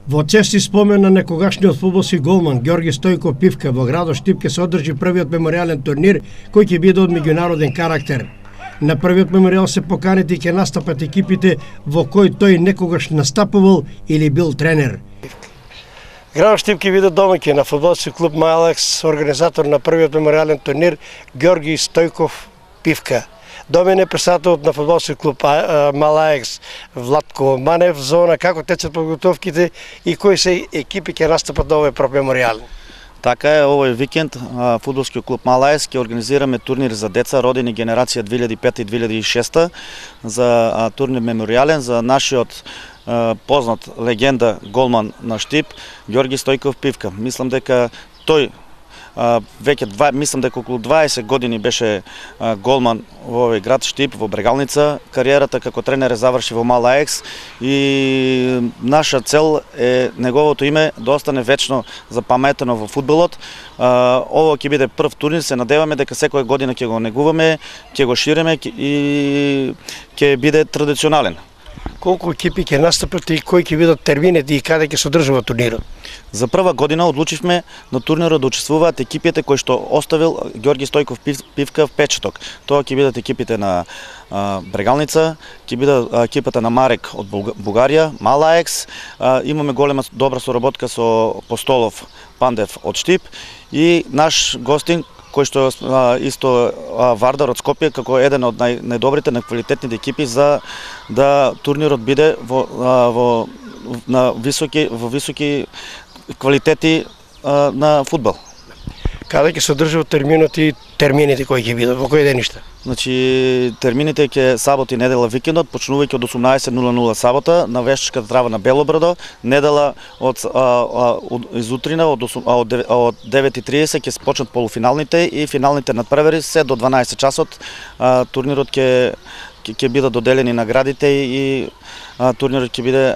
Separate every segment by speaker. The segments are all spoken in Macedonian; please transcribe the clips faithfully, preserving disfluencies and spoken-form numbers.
Speaker 1: Во чести спомен на некогашниот фудбалски голман Ѓорги Стојков Пивка во градот Штип ќе се одржи првиот меморијален турнир кој ќе биде од меѓународен карактер. На првиот меморијал се поканети ќе настапат екипите во кој тој некогаш настапувал или бил тренер. Градот Штип ќе биде домаќин на фудбалски клуб Малаекс, организатор на првиот меморијален турнир Ѓорги Стојков Пивка. До мене председателот на фудбалски клуб Малаекс Владко Манев, зона како течат подготовките и кои се екипи ќе настапат на овој меморијал.
Speaker 2: Така е, овој викенд фудбалскиот клуб Малаекс ќе организираме турнир за деца родени генерација две илјади и пета и две илјади и шеста за турнир меморијален за нашиот познат легенда голман на Штип Ѓорги Стојков Пивка. Мислам дека тој Uh, веќе два, мислам дека околу дваесет години беше uh, голман во овој град Штип, во Брегалница. Кариерата како тренер е заврши во Малаекс и наша цел е неговото име да остане вечно запаметено во фудбалот. Uh, ово ќе биде прв турнир, се надеваме дека секоја година ќе го негуваме, ќе го шириме и ќе биде традиционален.
Speaker 1: Колку екипи ќе настапат и кои ќе бидат термините и каде ќе се одржува турнирот?
Speaker 2: За прва година одлучивме на турнирот да учествуваат екипите кои што оставил Ѓорги Стојков Пивка впечаток. Тоа ќе бидат екипите на а, Брегалница, ќе биде екипата на Марек од Бугарија, Малаекс, а, имаме голема добра соработка со Постолов Пандев од Штип и наш гостин кој што а, исто а, Вардар од Скопје како еден од нај, најдобрите, најквалитетните екипи за да турнирот биде во, а, во на високи во високи квалитети а, на фудбал.
Speaker 1: Каде ќе се одржуваат терминот и термините кои ќе бидат во кои деништа?
Speaker 2: Значи термините ќе сабота и недела викендот, почнувајќи од осумнаесет нула нула сабота на вештачката трава на Белобрадо, недела од, а, а, од изутрина од, од, од девет и тридесет ќе почнат полуфиналните и финалните надпревари се до дванаесет часот. А, турнирот ќе ќе бидат доделени наградите и а, турнирот ќе биде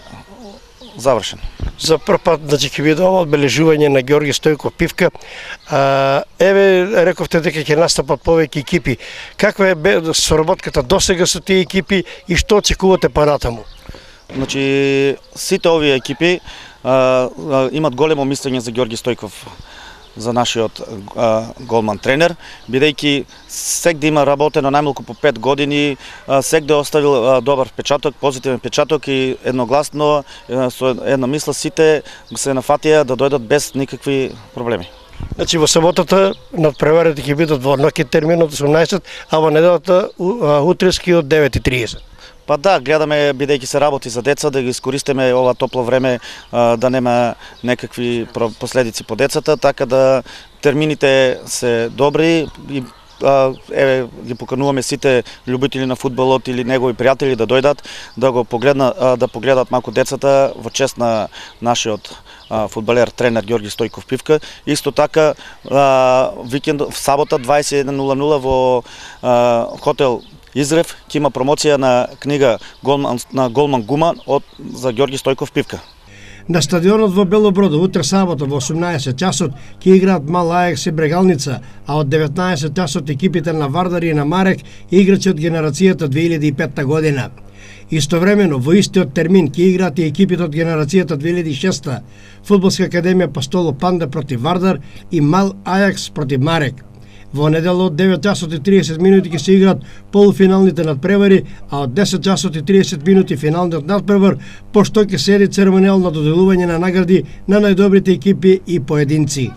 Speaker 2: завршен.
Speaker 1: За прв пат значи ќе биде ова одбележување на Ѓорги Стојков Пивка. А, еве рековте дека ќе настапат повеќе екипи. Каква е соработката досега со тие екипи и што очекувате понатаму?
Speaker 2: Значи сите овие екипи а, а, имат големо мислење за Ѓорги Стојков, за нашиот а, голман тренер, бидејќи сек да има работено најмалку по пет години, а, сек да оставил а, добар впечаток, позитивен впечаток и едногласно а, со една мисла сите се нафатија да дојдат без никакви проблеми.
Speaker 1: Значи во саботата надпреварите ќе бидат во ноќен термин од осумнаесет, а во неделата утрески од девет и тридесет.
Speaker 2: Па да, гледаме, бидејќи се работи за деца, да ги искористиме ова топло време, а, да нема некакви последици по децата, така да термините се добри и а, еве ги покануваме сите љубители на фудбалот или негови пријатели да дојдат, да го погледнат, а, да погледат малку децата во чест на нашиот а, фудбалер тренер Ѓорги Стојков Пивка. Исто така а, викенд в сабота дваесет и еден нула нула во а, хотел Изрев ќе има промоција на книга голман, на голман Гуман од за Ѓорги Стојков Пивка.
Speaker 1: На стадионот во Белобрадо утре сабота во осумнаесет часот ќе играат Малаекс и Брегалница, а од деветнаесет часот екипите на Вардар и на Марек играчи од генерацијата две илјади и пета година. Истовремено во истиот термин ќе играат и екипите од генерацијата две илјади и шеста, Фудбалска академија Постолов Панда против Вардар и Мал Ајакс против Марек. Во недела од девет часот и тридесет минути ќе се играат полуфиналните надпревари, а од десет часот и тридесет минути финалниот надпревар, пошто ќе се еди церемонијално доделување на награди на најдобрите екипи и поединци.